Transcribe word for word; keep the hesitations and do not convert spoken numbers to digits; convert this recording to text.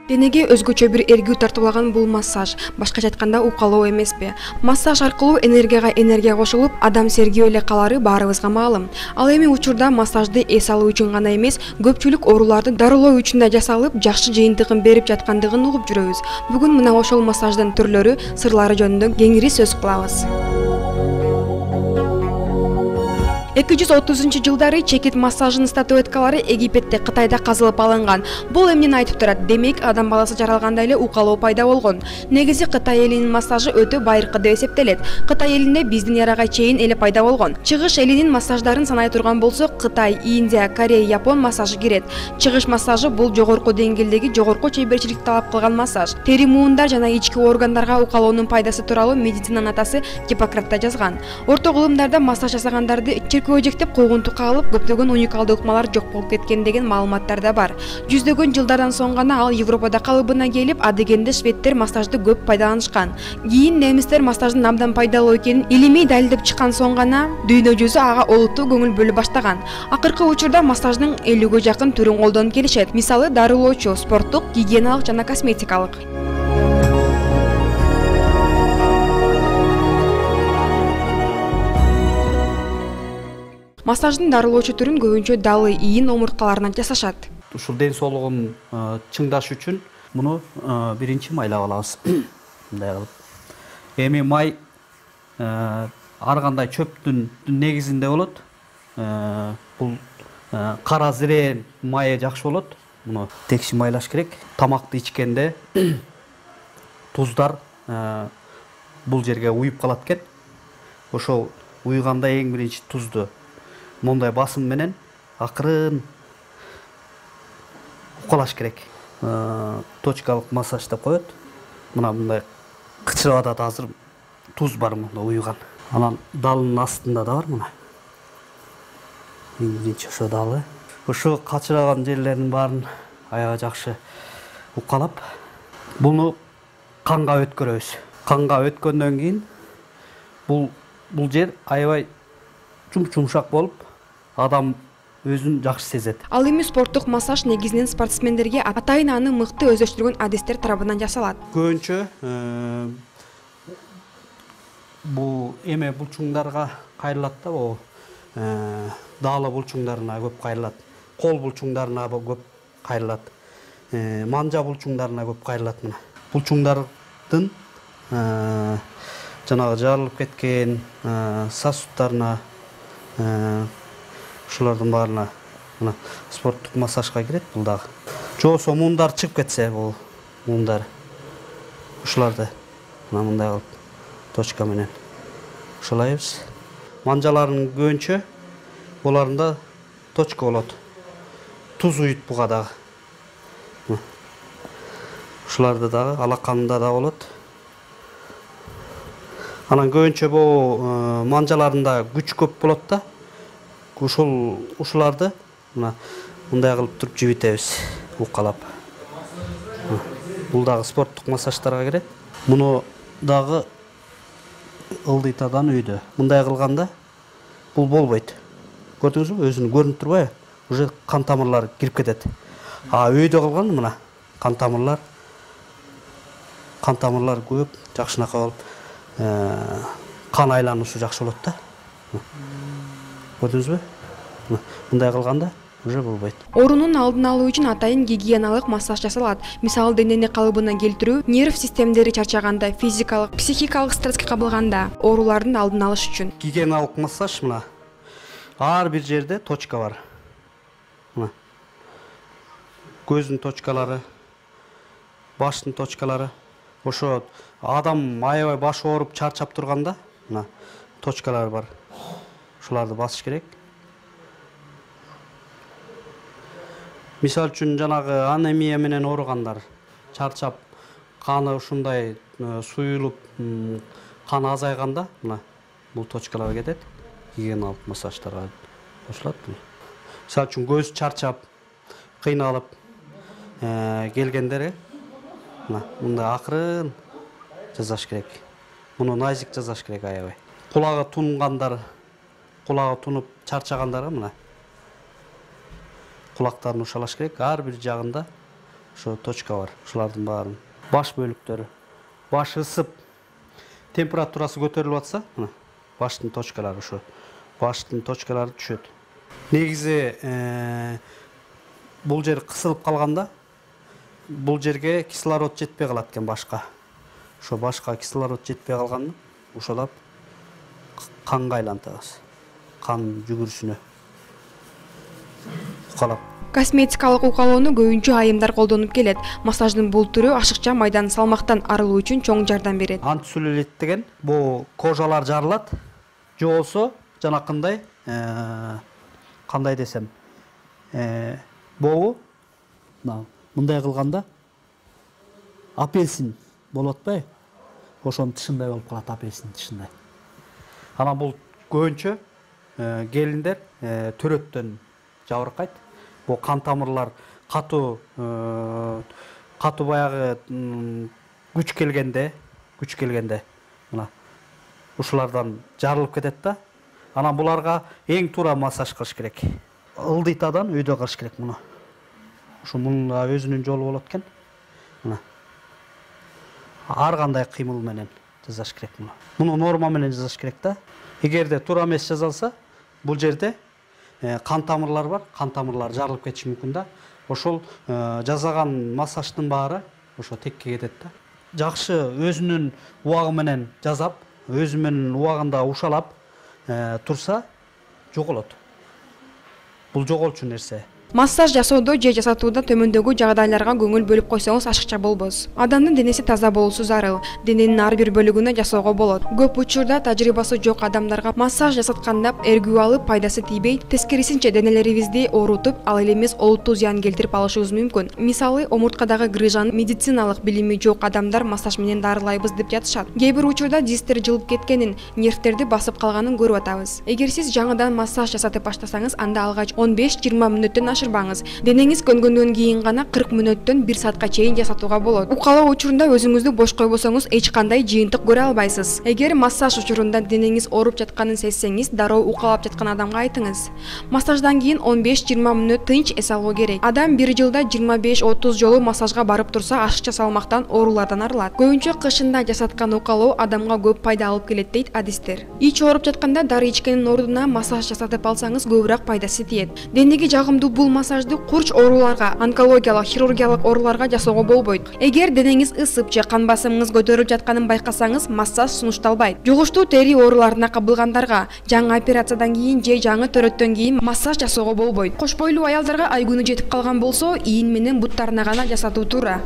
Денеге өзгөчө бир эргүү тартуулаган бул массаж, башкача айтканда укалоо эмеспи? Массаж аркылуу энергияга энергия кошулуп, адам сергип эле калары баарыбызга маалым. Ал эми учурда массажды эс алуу үчүн гана эмес, көпчүлүк ооруларды дарылоо үчүн да жасалып, жакшы жыйынтыгын берип жаткандыгын угуп жүрөбүз. Бүгүн мына ошол массаждын түрлөрү, сырлары жөнүндө кеңири сөз кылабыз. эки жүз отузунчу жылдары чекит массажынын статуэткалары Египетте, Кытайда казылып алынган. Бул эмнени айтып турат? Демек, адам баласы жаралганда эле укалоо пайда болгон. Негизи Кытай элинин массажы өтө байыркы деп эсептелет. Кытай элинде биздин эрага чейин эле пайда болгон. Чыгыш элинин массаждарын санай турган болсок, Кытай, Индия, Корея, Япон массажы кирет. Чыгыш массажы бул жогорку деңгээлдеги жогорку чеберчиликти талап кылган массаж. Тери, муундар жана ички органдарга укалоонун пайдасы тууралуу медицинанын атасы Гиппократта жазган. Орто кылымдарда массаж жасагандарды көжектеп койгунту кагылып, көптөгөн уникалдуу ыкмалар жок болуп кеткен деген маалыматтар да бар. Жүздөгөн жылдардан соң гана ал Европада калыбына келип, адегенде шведтер массажды көп пайдаланышкан. Кийин немистер массаждын абдан пайдалуу экенин илимий далилдеп чыккан соң гана дүйнө жүзү ага олуттуу көңүл бөлө баштаган. Акыркы учурда массаждын элүүгө жакын түрүн колдонуп келишет. Мисалы, дарылоочу, спорттук, гигиеналык жана косметикалык. Массаждын дарылоочу түрүн көбүнчө далы, ийин омурткаларынан жасашат. Ушул ден соолугун чыңдаш үчүн муну биринчи майлап алабыз. Мындай кылып. Эми май ар кандай чөптүн негизинде болот. Бул кара зирен майы жакшы болот. Муну текши майлаш керек. Тамакты ичкенде туздар бул жерге уюп калат экен. Ошол уйганда эң биринчи тузду мондай басым менен акырын укалаш керек. Точкалык массаж деп коет. Мына мындай кычырып атат, азыр туз бар мында уйган. Анан далынын астында да бар мына. Эң биринчи ошо далы. Ошо качыраган жерлердин баарын аябай жакшы укалап, буну канга өткөрөбүз. Канга өткөндөн кийин бул бул жер аябай жумшак болуп, адам өзүн жакшы сезет. Ал эми спорттук массаж негизинен спортсмендерге атайын аны мыкты өздөштүргөн адистер тарабынан жасалат. Көбүнчө бул эме булчуңдарга кайрылат да, бул даалы булчуңдарына көп кайрылат. Кол булчуңдарына көп кайрылат. Манжа булчуңдарына көп кайрылат мына. Булчуңдардын жанагы жарылып кеткен сосудтарына, ушулардын баарына мына спорттук массажга кирет бул дагы. Жобосо муундар чыгып кетсе, бул муундар ушуларды мына мындай кылып точка менен ушалайбыз. Манжалардын көбүнчө буларында точка болот. Туз уют буга дагы. Ушуларды дагы алаканында да болот. Анан көбүнчө бул манжаларында күч көп болот да. Ушул ушуларды мына мындай кылып туруп жибитебиз, укалап. Бул дагы спорттук массаждарга кирет. Муну дагы ылдыйтадан үйдө. Мындай кылганда бул болбойт. Көрдүңүзбү? Өзүнүн көрүнүп турбайбы? Уже кан тамырлары кирип кетет. А үйдө кылган мына кан тамырлар кан тамырлар көп, жакшынакай болуп, кан айлануусу жакшы болот да. Көрдүңүзбү? Мындай кылганда уже болбойт. Оорунун алдын алуу үчүн атайын гигиеналык массаж жасалат. Мисалы, денени калыбына келтирүү, нерв системдери чарчаганда, физикалык, психикалык стресске кабылганда, оорулардын алдын алыш үчүн. Гигиеналык массаж мына ар бир жерде точка бар. Мына көздүн точкалары, баштын точкалары. Ошо адам аябай башы ооруп чарчап турганда мына точкалар бар. Ушуларды басыш керек. Мисал үчүн жанагы анемия менен ооругандар, чарчап, каны ушундай суюлуп, кан азайганда мына бул точкалар кетет. Гигиеналык массаждарга кошулат. Мисал үчүн көз чарчап, кыйналып келгендер мына мындай акырын жасаш керек. Муну назик жасаш керек аябай. Кулагы тунгандар, кулагы тунуп чарчагандарга мына кулактарын ушалаш керек. Ар бир жагында ошо точка бар. Ушулардын баарын. Баш бөлүктөрү. Баш ысып, температурасы көтөрүлүп атса, мына баштын точкалары ошо. Баштын точкалары түшөт. Негизи бул жер кысылып калганда, бул жерге кислород жетпей калат экен башка. Ошо башка кислород жетпей калганда, ошолап канга айлантабыз. Кан жүгүрүшүнө. Укалап. Косметикалык укалоону көбүнчө айымдар колдонуп келет. Массаждын бул түрү ашыкча майдан салмактан арылуу үчүн чоң жардам берет. Антицеллюлит деген бул кожалар жарылат. Же болсо жанакындай кандай десем, бобу мындай кылганда апельсин болот атпайбы? Ошонун тышындай болуп калат, апельсин тышындай. Анан бул көбүнчө келиндер төрөттөн жабыркайт. Бул кан тамырлар катуу катуу баягы күч келгенде, күч келгенде мына ушулардан жарылып кетет да. Анан буларга эң туура массаж кылыш керек. Ылдыйтадан үйдө кылыш керек муну. Ушу мунун өзүнүн жолу болот экен. Мына. Ар кандай кыймыл менен жасаш керек муну. Муну норма менен жасаш керек да. Эгерде туура эмес жасалса, бул жерде кан тамырлар бар, кан тамырлар жарылып кетиши мүмкүн да. Ошол жасаган массаждын баары ошо текке кетет да. Жакшы өзүнүн убагы менен жасап, өзү менен убагында ушалап турса жоголот. Бул жоголчу нерсе. Массаж жасоодо же жасатууда төмөндөгү жагдайларга көңүл бөлүп койсоңуз ашыкча болбос. Адамдын денеси таза болуусу зарыл. Дененин ар бир бөлүгүнө жасоого болот. Көп учурда тажрыйбасы жок адамдарга массаж жасатканда эргүү алып пайдасы тийбей, тескерисинче денелерибизди оорутуп, ал эле эмес олуттуу зыян келтирип алышыбыз мүмкүн. Мисалы, омурткадагы грыжаны медициналык билими жок адамдар массаж менен дарылайбыз деп жатышат. Кээ бир учурда дистер жылып кеткенин, нервтерди басып калганын көрүп атабыз. Эгер сиз жаңыдан массаж жасатып баштасаңыз, анда алгач он беш жыйырма мүнөттөн ашырбаңыз. Денеңиз көнгөндөн кийин гана кырк мүнөттөн бир саатка чейин жасатууга болот. Укалоо учурунда өзүңүздү бош койбосоңуз эч кандай жыйынтык көрө албайсыз. Эгер массаж учурунда денеңиз ооруп жатканын сезсеңиз, дароо укалап жаткан адамга айтыңыз. Массаждан кийин он беш жыйырма мүнөт тынч эс алуу керек. Адам бир жылда жыйырма беш отуз жолу массажга барып турса, ашыкча салмактан, оорулардан арылат. Көбүнчө кышында жасаткан укалоо адамга көп пайда алып келет дейт адистер. Ич ооруп жатканда дары ичкенин ордуна массаж жасатып алсаңыз, көбүрөөк пайдасы тиет. Денеге жагымдуу бул массажды курч ооруларга, онкологиялык, хирургиялык ооруларга жасоого болбойт. Эгер денеңиз ысып же кан басымыңыз көтөрүлүп жатканын байкасаңыз, массаж сунушталбайт. Жугуштуу тери ооруларына кабылгандарга, жаңы операциядан кийин же жаңы төрөттөн кийин массаж жасоого болбойт. Кош бойлуу аялдарга ай күнү жетип калган болсо, ийин менен буттарына гана жасатуу туура.